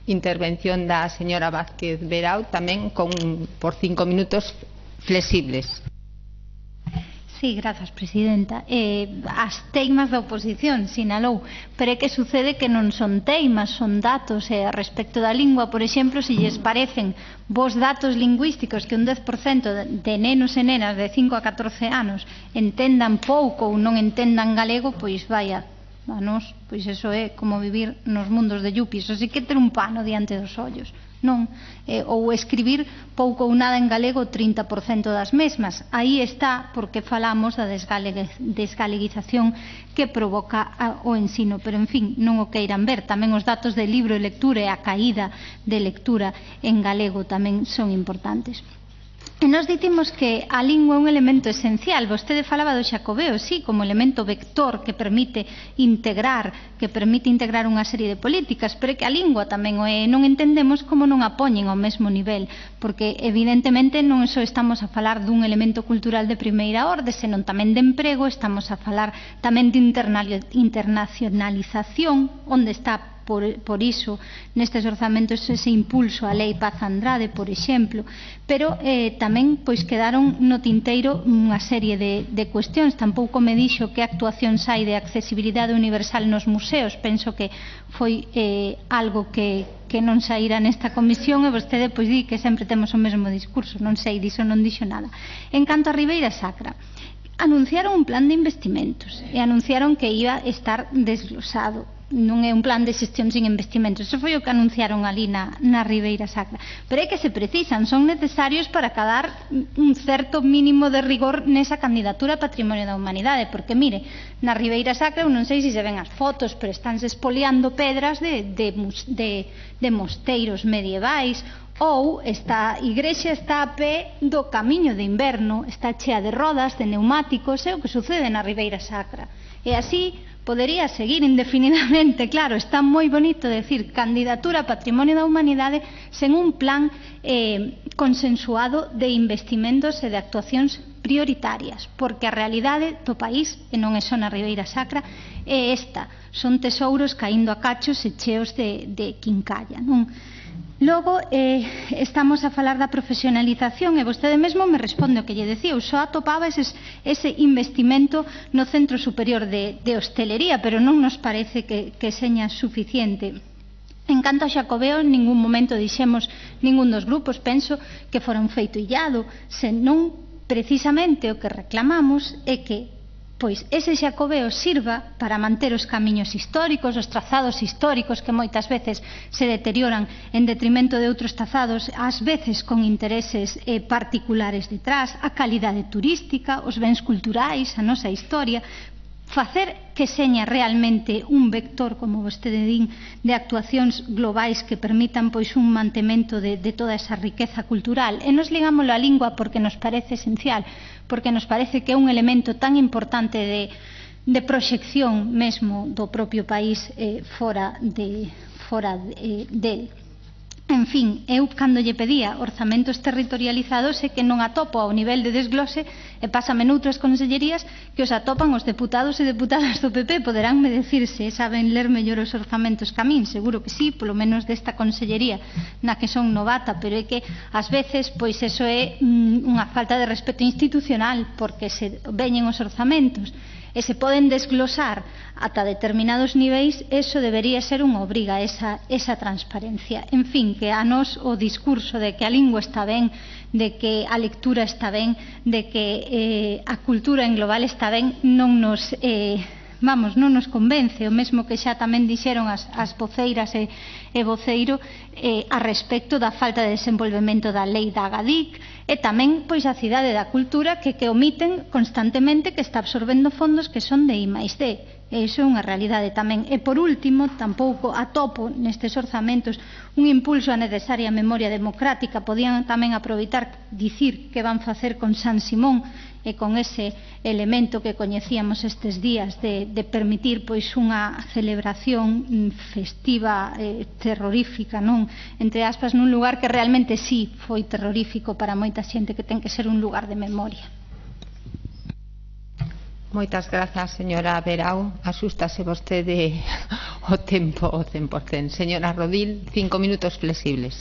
intervención da señora Vázquez Verao tamén por 5 minutos flexibles. Sí, grazas, presidenta. As teimas da oposición sinalou, pero é que sucede que non son teimas, son datos. Respecto da lingua, por exemplo, se lles parecen vos datos lingüísticos que un 10% de nenos e nenas de 5 a 14 anos entendan pouco ou non entendan galego, pois vaya, a nós, pois eso é como vivir nos mundos de Yuppies, así que ter un pano diante dos ollos, non? Ou escribir pouco ou nada en galego 30% das mesmas. Aí está porque falamos da desgaleguización que provoca o ensino, pero en fin, non o queiran ver. Tamén os datos de libro e lectura e a caída de lectura en galego tamén son importantes. E nos dicimos que a lingua é un elemento esencial. Vostede falaba do Xacobeo, sí, como elemento vector que permite integrar unha serie de políticas, pero é que a lingua tamén non entendemos como non a poñen ao mesmo nivel, porque evidentemente non só estamos a falar dun elemento cultural de primeira orde, senón tamén de emprego, estamos a falar tamén de internacionalización, onde está por iso nestes orzamentos ese impulso á Lei Paz Andrade, por exemplo, pero tamén pois quedaron no tinteiro unha serie de cuestións. Tampouco me dixo que actuación hai de accesibilidade universal nos museos. Penso que foi algo que non saíra nesta comisión e vostede pois di que sempre temos o mesmo discurso. Non sei, diso non dixo nada. En canto a Ribeira Sacra, anunciaron un plan de investimentos e anunciaron que iba a estar desglosado. Non é un plan de xestión sin investimentos. Eso foi o que anunciaron ali na Ribeira Sacra. Pero é que se precisan, son necesarios para cadar un certo mínimo de rigor nesa candidatura a Patrimonio da Humanidade, porque mire, na Ribeira Sacra, non sei se se ven as fotos, pero estánse espoliando pedras de mosteiros medievais, ou esta igrexa está a pé do camiño de inverno, está chea de rodas, de neumáticos, é o que sucede na Ribeira Sacra. E así podería seguir indefinidamente. Claro, está moi bonito decir candidatura a Patrimonio da Humanidade sen un plan consensuado de investimentos e de actuacións prioritarias, porque a realidade do país, e non é só na Ribeira Sacra, é esta: son tesouros caíndo a cachos e cheos de quincalla, non? Logo, estamos a falar da profesionalización e vostede mesmo me responde o que lle decía. Eu só atopaba ese investimento no Centro Superior de Hostelería, pero non nos parece que seña suficiente. En canto a Xacobeo, en ningún momento dixemos ningún dos grupos, penso que fora un feito illado, senón precisamente o que reclamamos é que pois ese Xacobeo sirva para manter os camiños históricos, os trazados históricos que moitas veces se deterioran en detrimento de outros trazados, ás veces con intereses particulares detrás, a calidade turística, os bens culturais, a nosa historia, facer que seña realmente un vector, como vostede din, de actuacións globais que permitan pois un mantemento de toda esa riqueza cultural. E nos ligamos á lingua porque nos parece esencial, porque nos parece que é un elemento tan importante de proxección mesmo do propio país fora del. En fin, eu cando lle pedía orzamentos territorializados é que non atopo ao nivel de desglose e pásame noutras consellerías que os atopan os deputados e deputadas do PP. Poderánme decir se saben ler mellor os orzamentos que a min, seguro que sí, polo menos desta consellería na que son novata, pero é que ás veces pois eso é unha falta de respeto institucional, porque se veñen os orzamentos e se poden desglosar ata determinados niveis, eso debería ser unha obriga, esa transparencia. En fin, que a nos o discurso de que a lingua está ben, de que a lectura está ben, de que a cultura en global está ben, non nos convence. O mesmo que xa tamén dixeron as voceiras e voceiro a respecto da falta de desenvolvemento da lei da Agadic e tamén pois a cidade da cultura que omiten constantemente que está absorbendo fondos que son de I+D. Iso é unha realidade tamén. E por último, tampouco atopo nestes orzamentos un impulso á necesaria memoria democrática. Podían tamén aproveitar dicir que van facer con San Simón e con ese elemento que coñecíamos estes días de permitir pois unha celebración festiva terrorífica, non? Entre aspas, nun lugar que realmente sí foi terrorífico para moita xente, que ten que ser un lugar de memoria. Moitas grazas, señora Verao. Asústase vostede o tempo o 100%. Señora Rodil, 5 minutos flexibles.